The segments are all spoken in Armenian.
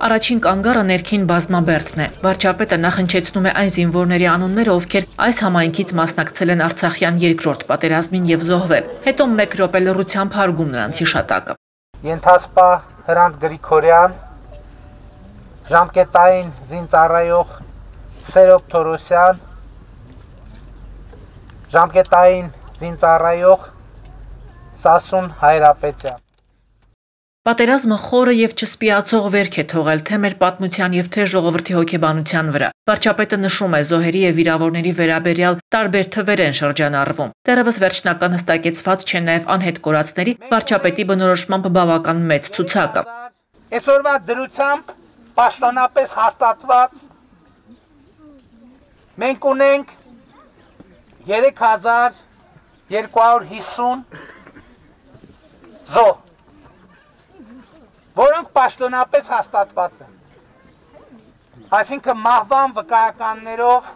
Առաջին կանգառը ներքին բազմաբերդն է։ Վարչապետը նախընչեցնում է այն զինվորների անունները, ովքեր այս համայնքից մասնակցել են Արցախյան երկրորդ պատերազմին եւ զոհվել։ Հետո 1 րոպե լռությամբ հարգում նրանց հիշատակը։ Ենթասպա Հրանտ Գրիգորյան, ժամկետային զինծառայող Սերոբ Թորոսյան, ժամկետային զինծառայող Սասուն Հայրապետյան։ Պատերազմը խորը եւ չսպիացող վերք է թողել թե մեր պատմության եւ թե ժողովրդի հոգեբանության վրա։ Վարչապետը նշում է զոհերի եւ վիրավորների վերաբերյալ տարբեր թվեր են շրջանառվում։ Դեռևս վերջնական հստակեցված չէ նաեւ անհետ կորածների վարչապետի բնորոշմամբ բավական մեծ ցուցակը։ Այսօրվա դրությամբ պաշտոնապես հաստատված մենք ունենք 3250 զոհ, որոնք պաշտոնապես հաստատված են, այսինքն մահվան վկայականներով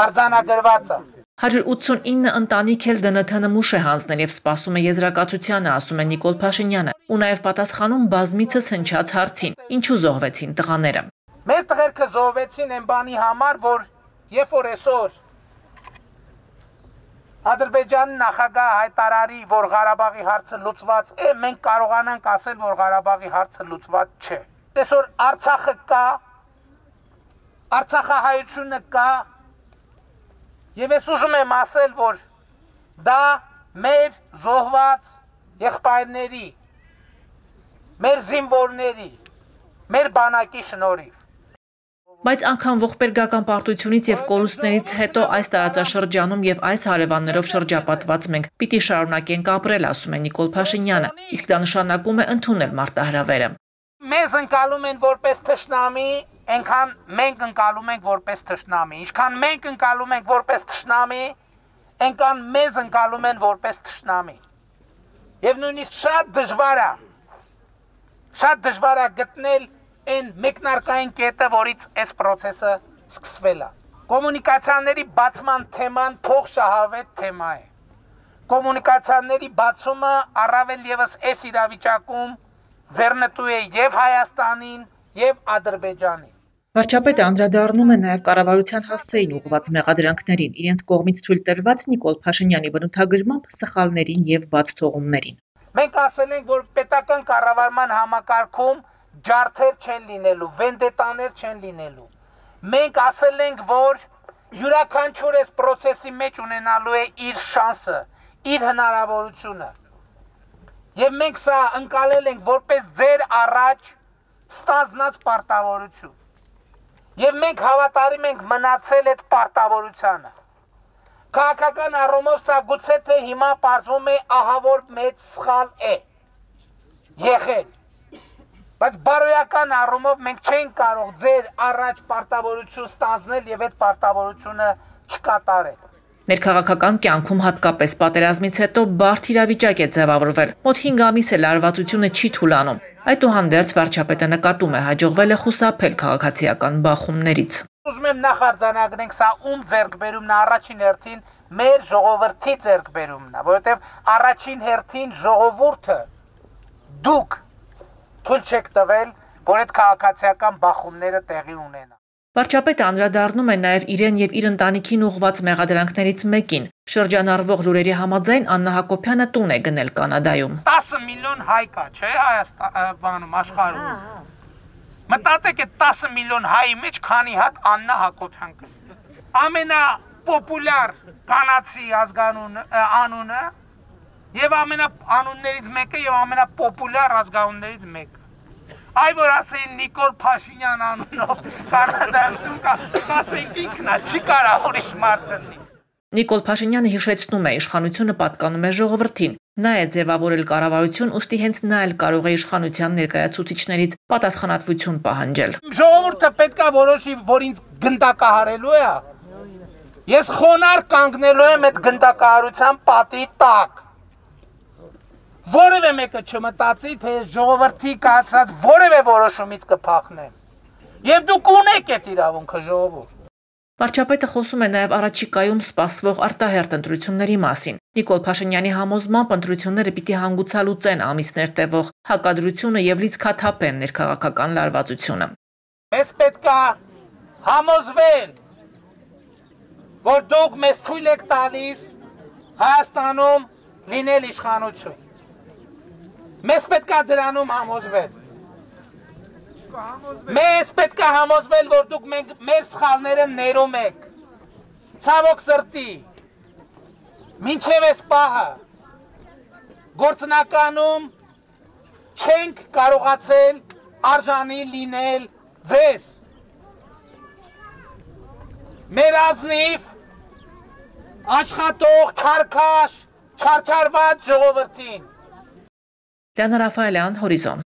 արձանագրված է։ 189 ընտանիք էլ ԴՆԹ նմուշ է հանձնել եւ սպասում է եզրակացությանը, ասում է Նիկոլ Փաշինյանը, ու նաեւ պատասխանում բազմիցս հնչած հարցին՝ ինչու զոհվեցին տղաները։ Մեր տղերքը զոհվեցին այն բանի համար, որ երբ որ այսօր Ադրբեջանի նախագահ հայտարարի, որ Ղարաբաղի հարցը լուծված է, մենք կարողանանք ասել, որ Ղարաբաղի հարցը լուծված չէ։ Այսօր Արցախը կա, Արցախահայությունը կա, եւ ես ուզում եմ ասել, որ դա մեր զոհված եղբայրների, մեր զինվորների, մեր բանակի շնորհիվ։ Բայց անգամ ողբերգական պարտությունից եւ կորուստներից հետո այս տարածաշրջանում եւ այս հարևաններով շրջապատված մենք պիտի շարունակենք ապրել, ասում է Նիկոլ Փաշինյանը, իսկ դա նշանակում է ընդունել մարտահրավերը։ Մեզ ընկալում են որպես թշնամի, այնքան մենք ընկալում ենք որպես թշնամի, ինչքան մենք ընկալում ենք որպես թշնամի, այնքան մեզ ընկալում են որպես թշնամի։ Եվ նույնիսկ շատ դժվար է գտնել այն մեկնարկային կետը, որից այս process-ը սկսվել է։ Կոմունիկացիաների բացման թեման փոխշահավետ թեմա է։ Կոմունիկացիաների բացումը առավել եւս այս իրավիճակում ձեռնտու է եւ Հայաստանին, եւ Ադրբեջանին։ Վարչապետը անդրադառնում է նաեւ կառավարության հասցեին ուղղված մեղադրանքներին, իրենց կողմից թույլ տրված Նիկոլ Փաշինյանի բնութագրմամբ սխալներին եւ բաց թողումներին։ Մենք ասել ենք, որ պետական կառավարման համակարգում ջարդեր չեն լինելու, վենդետաներ չեն լինելու։ Մենք ասել ենք, որ յուրաքանչյուր այս process-ի մեջ ունենալու է իր շանսը, իր հնարավորությունը։ Եվ մենք սա ընկալել ենք որպես ձեր առաջ ստանձնած պարտավորություն։ Եվ մենք հավատարիմ ենք մնացել այդ պարտավորությանը։ Քաղաքական առումով սա գուցե թե հիմա պարզվում է ահավոր մեծ սխալ է եղել։ Բայց բարոյական առումով մենք չենք կարող ձեր առաջ պարտավորություն ստանձնել եւ այդ պարտավորությունը չկատարել։ Ներքաղաքական կյանքում հատկապես պատերազմից հետո բարդ իրավիճակ է ձևավորվել։ Մոտ 5 ամիս է լարվածությունը չի թուլանում։ Այդուհանդերձ վարչապետը նկատում է հաջողվել է խուսափել քաղաքացիական բախումներից։ Ուզում եմ նախ արձանագրենք սա ում ձեռքբերումն է, առաջին հերթին մեր ժողովրդի ձեռքբերումն է, որովհետեւ առաջին հերթին ժողովուրդը դուք թույլ չեք տվել, որ այդ քաղաքացիական բախումները տեղի ունենան։ Վարչապետը անդրադառնում է նաև իրեն եւ իր ընտանիքին ուղղված մեղադրանքներից մեկին։ Շրջանառվող լուրերի համաձայն Աննա Հակոբյանը տուն է գնել Կանադայում։ 10 միլիոն հայ կա, չէ, Հայաստանում, աշխարհում։ Մտածեք այդ 10 միլիոն հայի մեջ քանի հատ Աննա Հակոբյան կա։ Ամենապոպուլյար կանացի անունը եւ ամենաանուններից մեկը եւ ամենապոպուլյար ազգանուններից մեկը։ Այ որ ասեն Նիկոլ Փաշինյան անունով Կանադայում կասենք ինքն է, չի կարող ուրիշ մարդ լինի։ Նիկոլ Փաշինյանը հիշեցնում է, իշխանությունը պատկանում է ժողովրդին։ Նա է ձևավորել կառավարություն, ուստի հենց նա էլ կարող է իշխանության ներկայացուցիչներից պատասխանատվություն պահանջել։ Ժողովուրդը պետք է որոշի, որ ինձ գնդակահարելու է։ Ես խոնարհ կանգնելու եմ այդ գնդակահարության պատի տակ։ Որևէ մեկը չմտածի, թե ժողովրդի կայացրած որևէ որոշումից կփախնեմ։ Եվ դուք ունեք այդ իրավունքը, ժողովուրդ։ Վարչապետը խոսում է նաև առաջիկայում սպասվող արտահերթ ընտրությունների մասին։ Նիկոլ Փաշինյանի համոզմամբ ընտրությունները պիտի հանգուցալուծեն ամիսներ տևող հակադրությունը եւ լիցքաթափեն ներքաղաքական լարվածությունը։ Մեզ պետք է համոզվել, որ դուք մեզ թույլ եք տալիս Հայաստանում լինել իշխանություն։ Մեզ պետք է դրանում համոզվել։ Մեզ պետք է համոզվել, որ դուք մեր սխալները ներում եք։ Ցավոք սրտի, մինչև այս պահը գործնականում չենք կարողացել արժանի լինել ձեզ։ Մեր ազնիվ աշխատող, չարքաշ, չարչարված ժողովրդին։ Լիանա Ռաֆայելյան, Հորիզոն։